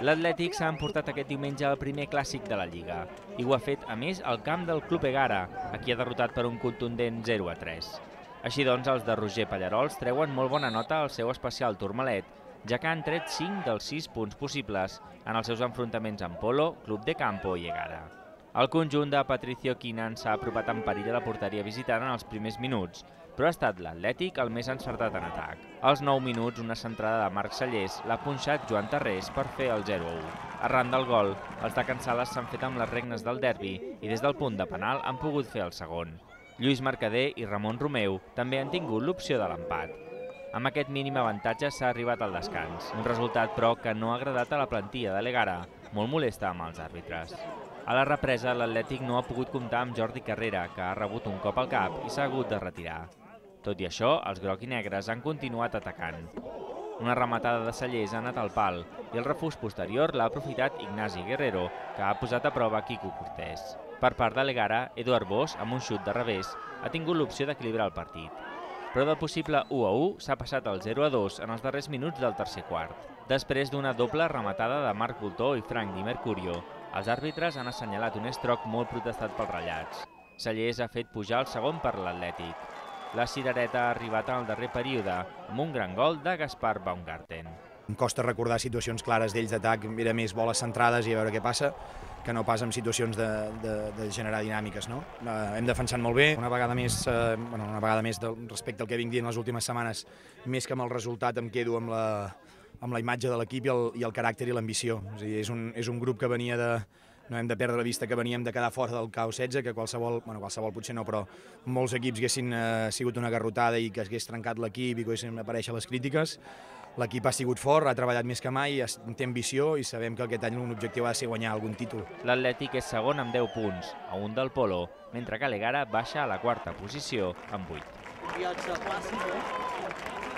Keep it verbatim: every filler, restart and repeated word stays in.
L'Atlètic s'ha emportat aquest diumenge el primer clàssic de la Lliga i ho ha fet, a més, al camp del Club Egara, a qui ha derrotat per un contundent zero a tres. Així doncs, els de Roger Pallarols treuen molt bona nota al seu especial Tourmalet, ja que han tret cinc dels sis punts possibles en els seus enfrontaments amb Polo, Club de Campo i Egara. El conjunt de Patricio Quinan s'ha apropat en perill a la porteria visitant en els primers minuts, però ha estat l'Atlètic el més encertat en atac. Als nou minuts, una centrada de Marc Sallés l'ha punxat Joan Tarrés per fer el zero a u. Arran del gol, els de Can Sales s'han fet amb les regnes del derbi i des del punt de penal han pogut fer el segon. Lluís Mercader i Ramon Romeu també han tingut l'opció de l'empat. Amb aquest mínim avantatge s'ha arribat al descans, un resultat però que no ha agradat a la plantilla de l'Egara, molt molesta amb els àrbitres. A la represa, l'Atlètic no ha pogut comptar amb Jordi Carrera, que ha rebut un cop al cap i s'ha hagut de retirar. Tot i això, els groc i negres han continuat atacant. Una rematada de Sallés ha anat al pal i el refús posterior l'ha aprofitat Ignasi Guerrero, que ha posat a prova Quico Cortés. Per part de l'Egara, Eduard Bosch, amb un xut de revés, ha tingut l'opció d'equilibrar el partit. Però del possible u a u s'ha passat al zero a dos en els darrers minuts del tercer quart. Després d'una doble rematada de Marc Voltó i Frank Di Mercurio, els àrbitres han assenyalat un estroc molt protestat pels ratllats. Sallés ha fet pujar el segon per l'Atlètic. La cirereta ha arribat en el darrer període, amb un gran gol de Gaspar Baumgarten. Em costa recordar situacions clares d'ells d'atac, era més boles centrades i a veure què passa, que no pas en situacions de, de, de generar dinàmiques. No? Eh, hem defensat molt bé, una vegada més, eh, bueno, una vegada més del, respecte al que vinc dient les últimes setmanes, més que amb el resultat em quedo amb la, amb la imatge de l'equip i, el, i el caràcter i l'ambició. És, és, un, és un grup que venia de... No hem de perdre la vista que veníem de quedar fora del K O setze, que qualsevol, bueno, qualsevol potser no, però molts equips haguessin eh, sigut una garrotada i que hagués trencat l'equip i que haguessin aparèixer les crítiques. L'equip ha sigut fort, ha treballat més que mai, té ambició i sabem que aquest any un objectiu ha de ser guanyar algun títol. L'Atlètic és segon amb deu punts, a un del Polo, mentre que l'Egara baixa a la quarta posició amb vuit. Viatge clàssic, eh?